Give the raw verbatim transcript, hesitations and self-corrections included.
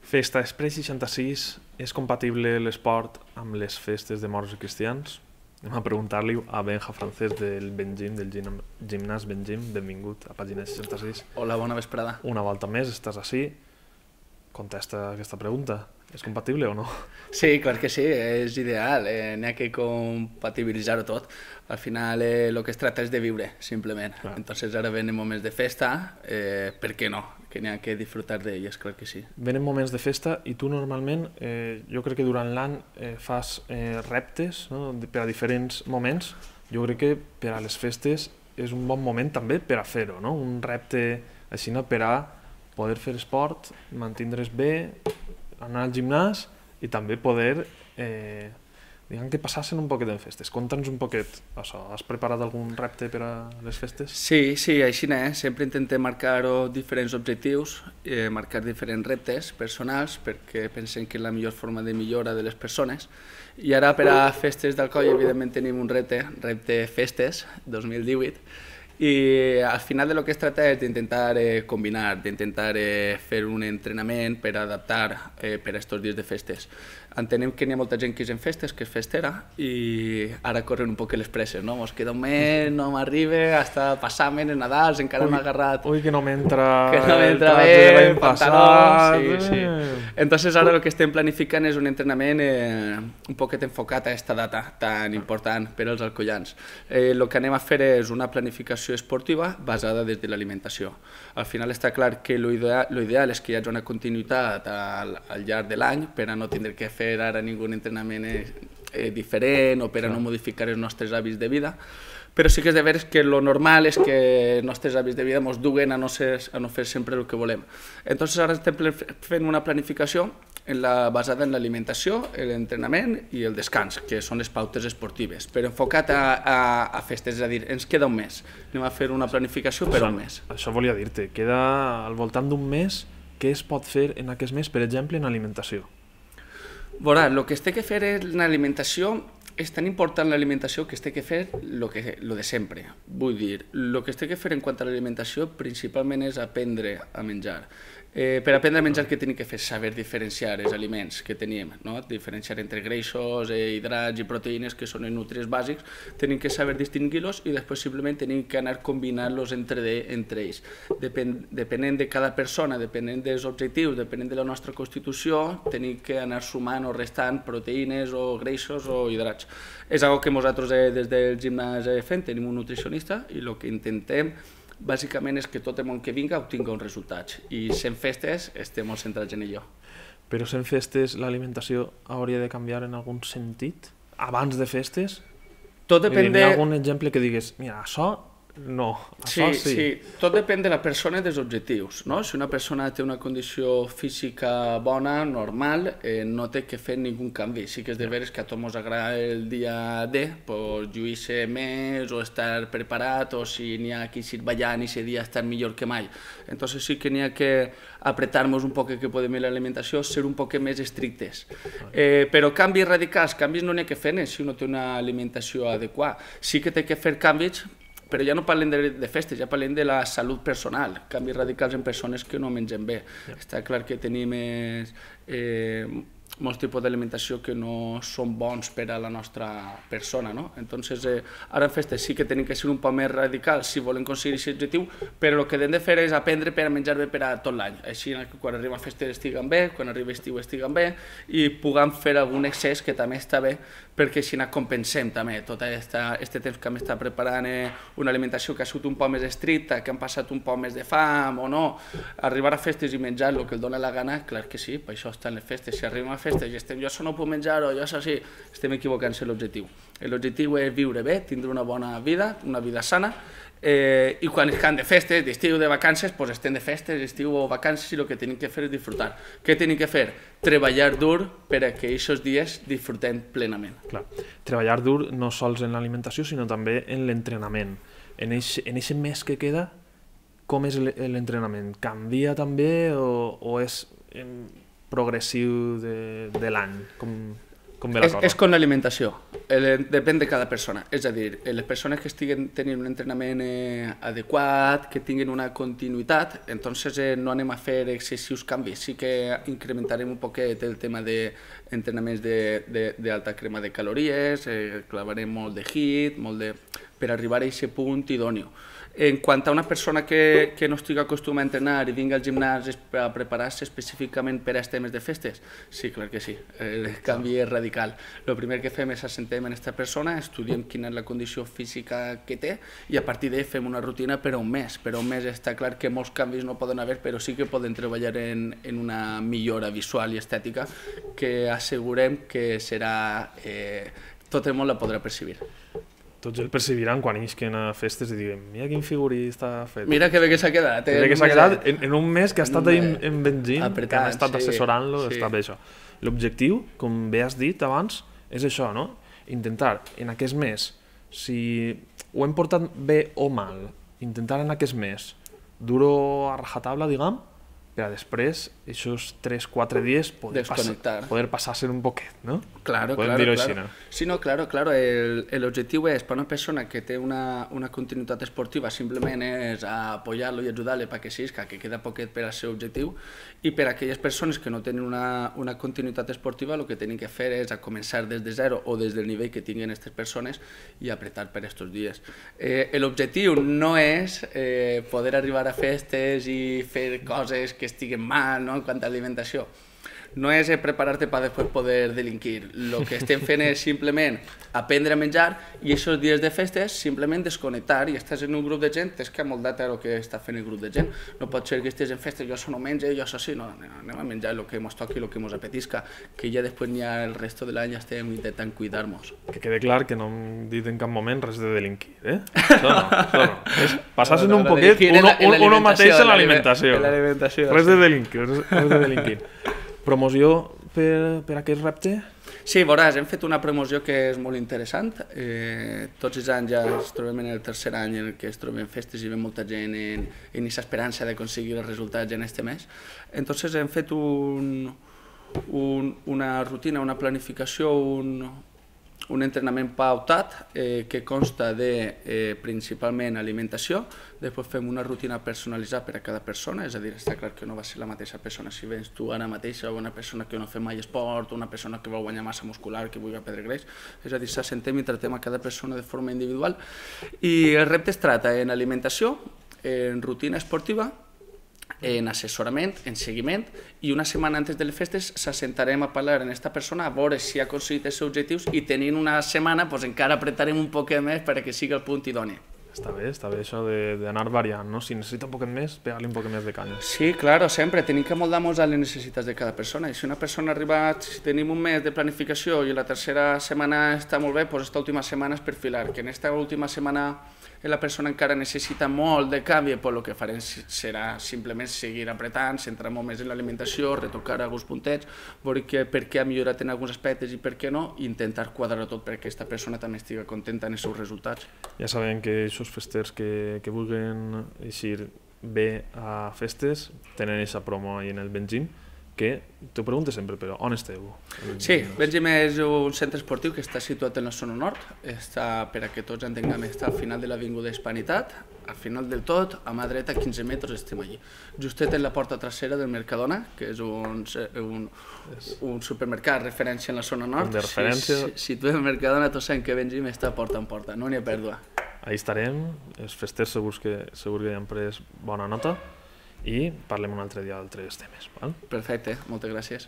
Festa Express seixanta-sis, és compatible l'esport amb les festes de morts i cristians? Anem a preguntar-li a Benja Francés del Bengim, del gim- gimnàs Bengim. Benvingut a Pàgina seixanta-sis. Hola, bona vesprada. Una volta més, estàs ací. Contesta aquesta pregunta. És compatible o no? Sí, clar que sí, és ideal, eh, n'hi ha que compatibilitzar-ho tot. Al final el eh, que es tracta és de viure, simplement. Clar. Entonces ara venen moments de festa, eh, per què no? Que n'hi ha que disfrutar d'elles, clar que sí. Venen moments de festa i tu normalment, eh, jo crec que durant l'any eh, fas eh, reptes, no? Per a diferents moments. Jo crec que per a les festes és un bon moment també per a fer-ho, no? Un repte així, no? Per a poder fer esport, mantindre's bé, anar al gimnàs i també poder, eh, diguem que passar-se'n un poquet en festes. Conta'ns un poquet això. Has preparat algun repte per a les festes? Sí, sí, així és. Sempre intentem marcar diferents objectius, eh, marcar diferents reptes personals, perquè pensem que és la millor forma de millora de les persones. I ara per a festes d'Alcoi, evidentment, tenim un repte, repte Festes dos mil divuit, i al final de lo que es trata és d'intentar eh, combinar, d'intentar eh, fer un entrenament per adaptar eh, per a estos dies de festes. Entenem que n'hi ha molta gent que és en festes, que és festera, i ara corren un poc les presses, no? Mos queda un mes, no m'arriba, hasta passar-me en Nadals, encara m'ha agarrat... Ui, que no m'entra... Que no m'entra bé, pantaló... Sí, sí. Entonces ara el que estem planificant és un entrenament eh, un poquet enfocat a aquesta data tan important per als alcoians. Eh, el que anem a fer és una planificació esportiva basada des de l'alimentació. Al final està clar que l'ideal ideal és que hi hagi una continuïtat al, al llarg de l'any per a no tindre que fer ara ningú entrenament eh, diferent o per a no modificar els nostres hàbits de vida, però sí que és de veres que lo normal és que els nostres hàbits de vida ens duguen a no, ser, a no fer sempre el que volem. Entonces ara estem fent una planificació en la, basada en l'alimentació, l'entrenament i el descans, que són les pautes esportives, però enfocat a, a, a festes, és a dir, ens queda un mes. Anem a fer una planificació per això, un mes. Això volia dir-te, queda al voltant d'un mes. Què es pot fer en aquest mes, per exemple, en alimentació? Veurà, el que es té que fer en l'alimentació és tan important l'alimentació que es té que fer lo, que, lo de sempre. Vull dir, el que es té que fer en quant a l'alimentació principalment és aprendre a menjar. Eh, per aprendre a menjar, què tenim que fer? Saber diferenciar els aliments que tenim, no? Diferenciar entre greixos, eh, hidrats i proteïnes, que són els nutrients bàsics, tenim que saber distingir-los i després simplement tenim que anar combinant-los entre, de, entre ells. Depen, depenent de cada persona, depenent dels objectius, depenent de la nostra constitució, tenim que anar sumant o restant proteïnes o greixos o hidrats. És una cosa que nosaltres eh, des del gimnàs eh, fem, tenim un nutricionista i el que intentem bàsicament és que tot el món que vinga obtingui uns resultats i sent festes estem molt centrats en allò. Però sent festes l'alimentació hauria de canviar en algun sentit? Abans de festes? Tot depèn de... Hi ha algun exemple que digues, mira, això no, això sí. Sí, sí, tot depèn de la persona i dels objectius, no? Si una persona té una condició física bona, normal, eh, no té que fer ningú canvi. Sí que és de veres que a tots ens agrada el dia D, pues, lluir-se més o estar preparat, o si n'hi ha qui s'hi ballant i ese dia estar millor que mai. Entonces sí que n'hi ha que apretar-nos un poc que podem l'alimentació, ser un poc més estrictes. Eh, però canvis radicals, canvis no n'hi ha que fer si uno té una alimentació adequada. Sí que té que fer canvis, però ja no parlem de, de festes, ja parlem de la salut personal, canvis radicals en persones que no mengen bé. Yeah. Està clar que tenim eh, eh, molts tipus d'alimentació que no són bons per a la nostra persona, no? Entonces, eh, ara en festes sí que tenim que ser un poc més radicals si volem aconseguir aquest objectiu, però el que hem de fer és aprendre per a menjar bé per a tot l'any. Així que quan arriba a festes estiguen bé, quan arriba estiu estiguen bé, i puguem fer algun excés que també està bé, perquè així compensem també tot aquest temps que hem estat preparant eh, una alimentació que ha sigut un poc més estricta, que han passat un poc més de fam o no. Arribar a festes i menjar el que el dona la gana, clar que sí, per això estan les festes. Si arribem a festes i estem, jo això no puc menjar o jo això sí, estem equivocant-se l'objectiu. L'objectiu és viure bé, tindre una bona vida, una vida sana, eh, i quan estan de festes, d'estiu, de vacances, doncs estem de festes, estiu o vacances, i el que tenim que fer és disfrutar. Què tenim que fer? Treballar dur per a que aquests dies disfrutem plenament. Clar. Treballar dur no sols en l'alimentació, sinó també en l'entrenament. En aquest mes que queda, com és l'entrenament? Canvia també o, o és progressiu de, de l'any? Com... com ve la és, cosa? és com l'alimentació, eh, depèn de cada persona. És a dir, les persones que estiguen tenint un entrenament eh, adequat, que tinguin una continuïtat, entonces eh, no anem a fer excessius canvis. Sí que incrementarem un poquet el tema d'entrenaments d'alta crema de calories, eh, clavarem molt de hit, molt de... per arribar a aquest punt idòneo. En quant a una persona que, que no estigui acostumada a entrenar i vingui al gimnàs a preparar-se específicament per a aquests temes de festes, sí, clar que sí, el canvi és radical. El primer que fem és assentem en aquesta persona, estudiem quina és la condició física que té i a partir d'ahí fem una rutina per a un mes. Per a un mes està clar que molts canvis no poden haver, però sí que poden treballar en, en una millora visual i estètica que assegurem que serà... Eh, tot el món la podrà percibir. Tots el percebiran quan isquen a festes i diguen mira quin figurí està fet. Mira que bé que s'ha quedat. Eh? Mira que s'ha quedat en, en un mes que ha estat ahí en Benzín, apretant, que han estat sí, assessorant-lo, sí. està bé això. L'objectiu, com bé has dit abans, és això, no? Intentar en aquest mes, si ho hem portat bé o mal, intentar en aquest mes dur-ho a rajatabla, diguem, per a després, aquests tres quatre dies, poder, Desconectar. pas, poder passar-se un poquet, no? Claro, Podem claro, dir-ho claro. així, no? Sí, no, claro, claro. El objectiu és, per una persona que té una, una continuïtat esportiva, simplement és apoyar-lo i ajudar-lo perquè sisca, que queda poquet per al seu objectiu, i per a aquelles persones que no tenen una, una continuïtat esportiva, el que tenen que fer és a començar des de zero o des del nivell que tinguin aquestes persones i apretar per aquests dies. Eh, L'objectiu no és eh, poder arribar a festes i fer coses que estiguen mal, no?, en quant a alimentació. No és preparar-te per després poder delinquir. El que estem fent és simplement aprendre a menjar i aquests dies de festes simplement desconnectar i estàs en un grup de gent, és que ha molt data el que està fent el grup de gent. No pot ser que estiguis en festes, jo això no menjo, jo això sí, no, anem a menjar el que ens toqui, el que ens apetisca, que ja després n'hi ha el resto de l'any estem intentant cuidar-nos. Que quede clar que no hem dit en cap moment res de delinquir, eh? Això no, això no. És passar-se'n un poquet uno, uno mateix en l'alimentació. Res de delinquir, res de delinquir. Promoció per, per aquest repte? Sí, veuràs, hem fet una promoció que és molt interessant. Eh, tots els anys ja ens trobem en el tercer any en què es trobem festes i ve molta gent en, en aquesta esperança d'aconseguir els resultats en este mes. Entonces hem fet un, un, una rutina, una planificació, un, un entrenament pautat eh, que consta de eh, principalment alimentació, després fem una rutina personalitzada per a cada persona, és a dir, està clar que no va ser la mateixa persona si vens tu ara mateixa o una persona que no fa mai esport, una persona que vol guanyar massa muscular, que vulgui perdre greix, és a dir, s'assentem i tractem a cada persona de forma individual i el repte es tracta en alimentació, en rutina esportiva, en assessorament, en seguiment, i una setmana antes de les festes s'assentarem a parlar amb aquesta persona a veure si ha aconseguit els seus objectius i tenint una setmana pues, encara apretarem un poquet més perquè sigui el punt idoni. Està bé, està bé això d'anar variant, no? Si necessita un poquet més, pegar-li un poquet més de canya. Sí, claro, sempre. Tenim que moldar-nos a les necessitats de cada persona. I si una persona ha arribat, si tenim un mes de planificació i la tercera setmana està molt bé, doncs aquesta última setmana és perfilar. Que en aquesta última setmana la persona encara necessita molt de canvi, doncs el que farem serà simplement seguir apretant, centrar molt més en l'alimentació, retocar alguns puntets, veure que, per què ha millorat en alguns aspectes i per què no, i intentar quadrar tot perquè aquesta persona també estigui contenta en els seus resultats. Ja sabem que aquests festers que, que vulguin eixir bé a festes tenen aquesta promo ahí en el Benzín, que t'ho pregunto sempre, però on esteu? Sí, Benzín és un centre esportiu que està situat en la zona nord, està, per a que tots entenguem, està al final de l'Avinguda Hispanitat, al final del tot, a mà dreta, quinze metres, estem allí. Justet en la porta trasera del Mercadona, que és un, un, un supermercat referència en la zona nord. De referència. Si, si, si tu ets Mercadona, tots sabem que Benzín està porta en porta, no n'hi ha pèrdua. Ahí estarem, els festers segurs que, segur que han pres bona nota, i parlem un altre dia d'altres temes. Val? Perfecte, moltes gràcies.